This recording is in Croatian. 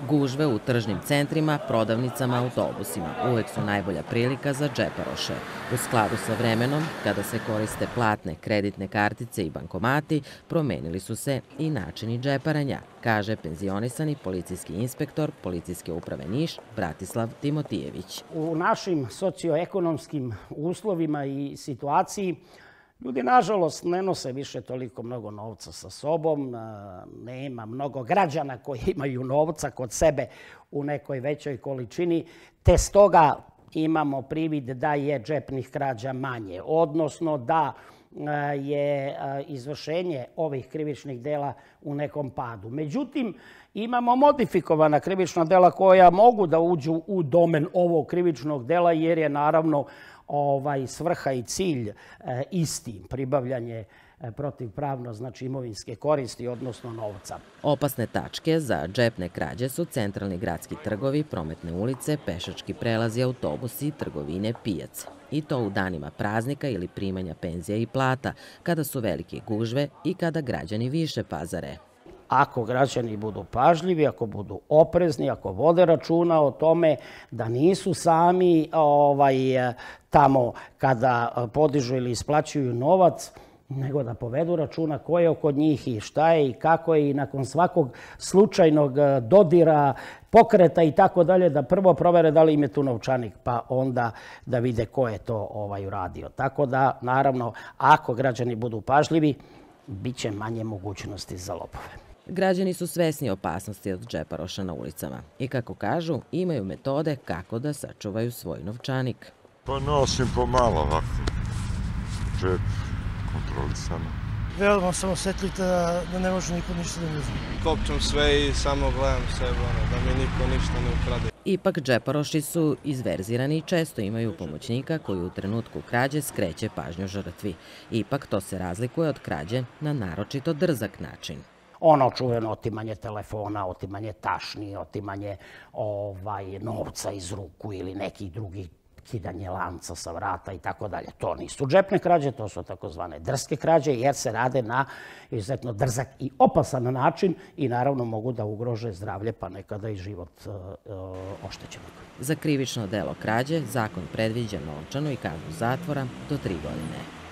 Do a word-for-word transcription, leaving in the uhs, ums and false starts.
Gužve u tržnim centrima, prodavnicama, autobusima uvek su najbolja prilika za džeparoše. U skladu sa vremenom, kada se koriste platne, kreditne kartice i bankomati, promenili su se i načini džeparanja, kaže penzionisani policijski inspektor Policijske uprave Niš Bratislav Timotijević. U našim socioekonomskim uslovima i situaciji ljudi, nažalost, ne nose više toliko mnogo novca sa sobom. Nema mnogo građana koji imaju novca kod sebe u nekoj većoj količini, te stoga imamo privid da je džepnih krađa manje, odnosno da je izvršenje ovih krivičnih dela u nekom padu. Međutim, imamo modifikovana krivična dela koja mogu da uđu u domen ovog krivičnog dela, jer je naravno svrha i cilj isti, pribavljanje protivpravno, znači imovinske koristi, odnosno novca. Opasne tačke za džepne krađe su centralni gradski trgovi, prometne ulice, pešački prelazi, autobusi, trgovine, pijace. I to u danima praznika ili primanja penzija i plata, kada su velike gužve i kada građani više pazare. Ako građani budu pažljivi, ako budu oprezni, ako vode računa o tome da nisu sami tamo kada podižu ili isplaćuju novac, nego da povedu računa ko je oko njih i šta je i kako je, i nakon svakog slučajnog dodira, pokreta i tako dalje, da prvo provere da li im je tu novčanik, pa onda da vide ko je to uradio. Tako da, naravno, ako građani budu pažljivi, bit će manje mogućnosti za lopove. Građani su svesni opasnosti od džeparoša na ulicama i, kako kažu, imaju metode kako da sačuvaju svoj novčanik. Pa nosim pomalo ovako, džep kontrolisano. Veoma sam osjetljiv da ne može niko ništa da mi uzme. Kopčam sve i samo gledam sebe, da mi niko ništa ne ukrade. Ipak džeparoši su izverzirani i često imaju pomoćnika koji u trenutku krađe skreće pažnju žrtvi. Ipak to se razlikuje od krađe na naročito drzak način. Ono čuveno otimanje telefona, otimanje tašni, otimanje novca iz ruku ili nekih drugih, kidanje lanca sa vrata i tako dalje. To nisu džepne krađe, to su takozvane drske krađe, jer se rade na izuzetno drzak i opasan način i naravno mogu da ugrože zdravlje, pa nekada i život oštećenog. Za krivično delo krađe zakon predviđa novčanu i kaznu zatvora do tri godine.